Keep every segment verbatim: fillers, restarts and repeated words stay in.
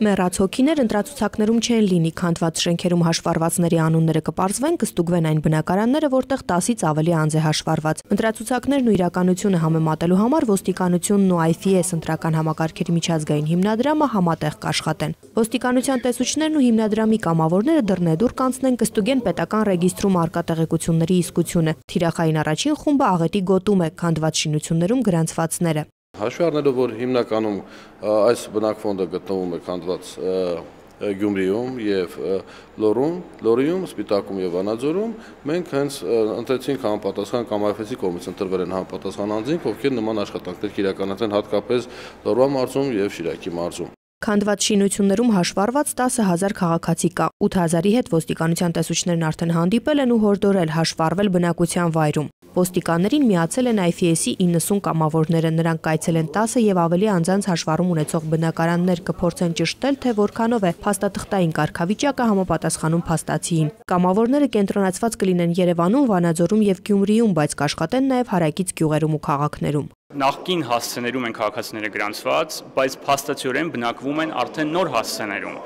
Մեռած հոգիներ ընտրացուցակներում չեն լինի, քանդված շենքերում հաշվառվածների անունները կպարզվեն, կստուգվեն այն բնակարանները, որտեղ տասից ավելի անձ է հաշվառված։ Ընտրացուցակներն ու իրականությունը համեմատելու համար ոստիկանությունն ու I F E S ընտրական համակարգերի միջազգային հիմնադրամը համատեղ կաշխատեն։ Ոստիկանության տեսուչներն ու հիմնադրամի կամավորները դռնեդուռ կանցնեն, կստուգեն պետական ռեգիստրում առկա տեղեկությունների իսկությունը։ Թիրախային առաջին խումբը աղետի գոտում է քանդված շինություններում գրանցվածները։ Հաշվի առնելով, որ հիմնականում այս բնակֆոնդը գտնվում է քանդված Գյումրիում եւ Լոռում, Լոռիում, Սպիտակում եւ Վանաձորում, մենք հենց ընտրեցինք համապատասխան կամ I F S-ի կողմից ընտրվել են համապատասխան անձինք, ովքեր նման աշխատանքներ իրականացան հատկապես Լոռվա մարզում եւ Շիրակի մարզում։ Քանդված շինություններում հաշվառված տասը հազար քաղաքացի կա, ութ հազարի հետ ոստիկանության տեսուչներն արդեն հանդիպել են ու հորդորել հաշվառվել բնակության վայրում։ Ոստիկաններին միացել են I F E S-ի իննսուն կամավորները, նրանք կայցել են տասը եւ ավելի անձանց հաշվառում ունեցող բնակարաններ, կփորձեն ճշտել, թե որքանով է փաստաթղթային կարգավիճակը համապատասխանում փաստացիին։ Կամավորները կենտրոնացված կլինեն Երևանում, Վանաձորում եւ Գյումրիում, բայց կաշխատեն նաեւ հարակից գյուղերում ու քաղաքներում։ Նախկին հասցեներում են քաղաքացիները գրանցված, բայց փաստացիորեն բնակվում են արդեն նոր հասցեներում,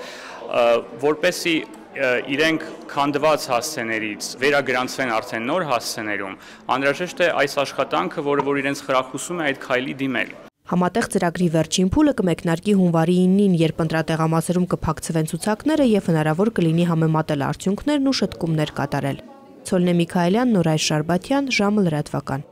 որպեսզի իրենք քանդված հասցեներից վերագրանցվեն արդեն նոր հասցեներում, անհրաժեշտ է այս աշխատանքը, որը որ իրենց խրախուսում է այդ քայլի դիմել։ Համատեղ ծրագրի վերջին փուլը կմեկնարկի հունվարի իննին, երբ ընտրատեղամասերում կփակցվեն ցուցակները եւ հնարավոր կլինի համեմատել արդյունքներն ու շտկումներ կատարել։ Ցոլնե Միքայելյան, Նորայր Շարբաթյան, ժամը լրատվական։